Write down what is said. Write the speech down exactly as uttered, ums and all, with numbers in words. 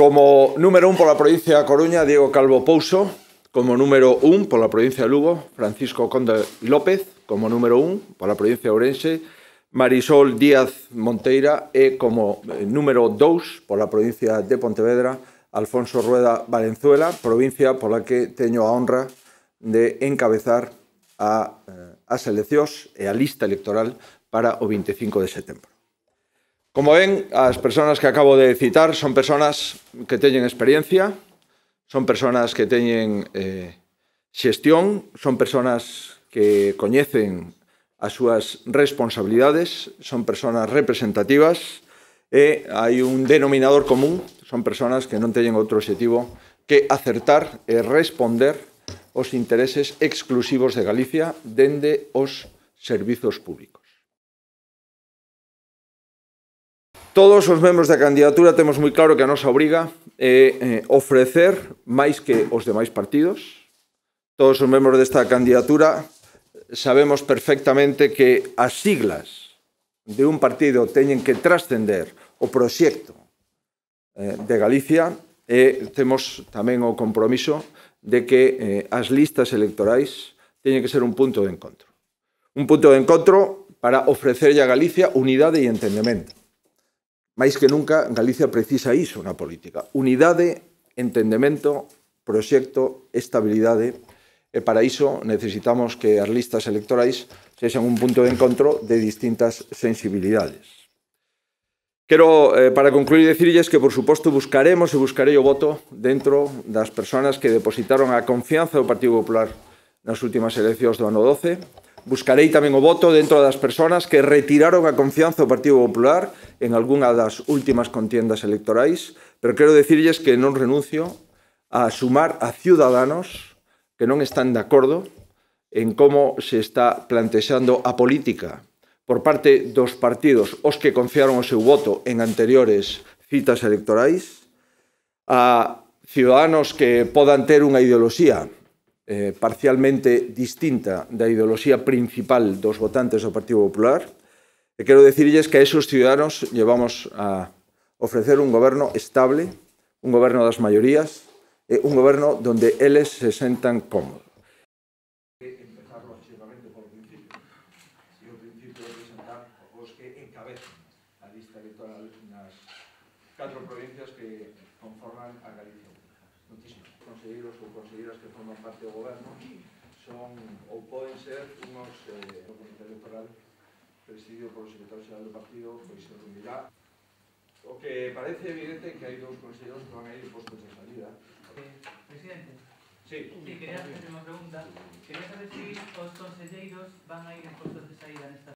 Como número un pola provincia da Coruña, Diego Calvo Pouso. Como número un pola provincia de Lugo, Francisco Conde López. Como número un pola provincia de Ourense, Marisol Díaz Monteira. E como número dous pola provincia de Pontevedra, Alfonso Rueda Valenzuela, provincia pola que teño a honra de encabezar a, as eleccións e a lista electoral para o veinticinco de setembro. Como ven, as persoas que acabo de citar son persoas que teñen experiencia, son persoas que teñen eh, xestión, son persoas que coñecen as súas responsabilidades, son persoas representativas e hai un denominador común, son persoas que non teñen outro obxectivo que acertar e responder os intereses exclusivos de Galicia dende os servizos públicos. Todos os membros da candidatura temos moi claro que a nosa obriga é ofrecer máis que os demais partidos. Todos os membros desta candidatura sabemos perfectamente que as siglas de un partido teñen que trascender o proxecto de Galicia e temos tamén o compromiso de que as listas electorais teñen que ser un punto de encontro. Un punto de encontro para ofrecerlle a Galicia unidade e entendemento. Mais que nunca, Galicia precisa iso na política. Unidade, entendemento, proxecto, estabilidade. E para iso necesitamos que as listas electorais sexan un punto de encontro de distintas sensibilidades. Quero, eh, para concluir, decirlles que, por suposto, buscaremos e buscarei o voto dentro das persoas que depositaron a confianza do Partido Popular nas últimas eleccións do ano doce. Buscarei tamén o voto dentro das persoas que retiraron a confianza do Partido Popular en algunha das últimas contiendas electorais, pero quero decirlles que non renuncio a sumar a ciudadanos que non están de acordo en como se está plantexando a política por parte dos partidos os que confiaron o seu voto en anteriores citas electorais, a ciudadanos que podan ter unha ideoloxía Eh, parcialmente distinta da ideoloxía principal dos votantes do Partido Popular, e quero decirlles que a esos ciudadanos lle vamos a ofrecer un goberno estable, un goberno das maiorías, e un goberno donde eles se sentan cómodos. Empezar lógicamente por principio. E o principio é presentar os que encabezan a lista electoral nas catro provincias que conforman a Galicia. Muchísimos conselleiros ou conselleiras que forman parte do goberno son ou poden ser unos eh, o comité electoral presidido polo secretario xeral do partido, pois se reunirá. O que parece evidente é que hai dous conselleiros que van a ir postos de salida. Eh, presidente. Sí. Sí, quería hacer unha pregunta. Quería saber se os conselleiros van a ir en postos de saída nesta